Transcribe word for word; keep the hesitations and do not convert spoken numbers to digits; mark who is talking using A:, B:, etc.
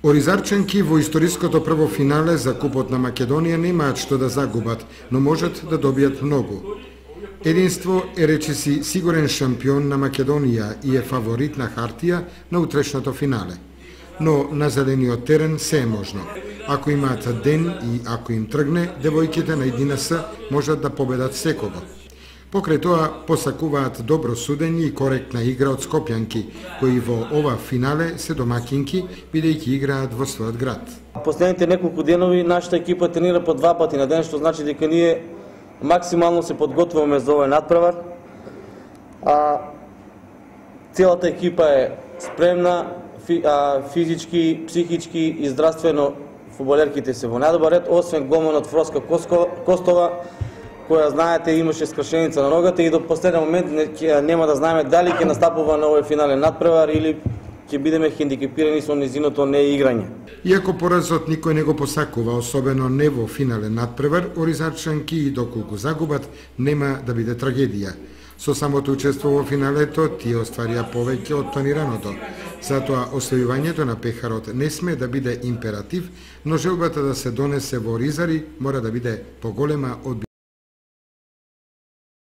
A: Оризарчанки во историското прво финале за Купот на Македонија немаат што да загубат, но можат да добијат многу. Единство е речиси сигурен шампион на Македонија и е фаворит на хартија на утрешното финале. Но на зелениот терен се е можно. Ако имаат ден и ако им тргне, девојките на едина ес можат да победат секого. Покрај тоа посакуваат добро судење и коректна игра од скопјанки, кои во ова финале се домакинки, бидејќи играат во својот град.
B: Последните неколку денови нашата екипа тренира по два пати на ден, што значи дека ние максимално се подготвуваме за овој натпревар. А целата екипа е спремна, физички, психички и здравствено фудбалерките се во најдобар ред, освен голманот Фроска Костова, која, знаете, имаше скршеница на ногата и до последен момент нема да знаеме дали ќе настапува на овој финален натпревар или ќе бидеме хендикепирани со незиното неиграње.
A: Иако поразот никој не го посакува, особено не во финален натпревар, оризарчанки и доколку загубат, нема да биде трагедија. Со самото учество во финалето, тие остварија повеќе од планираното. Затоа, освојувањето на пехарот не сме да биде императив, но желбата да се донесе во Оризари мора да биде поголема од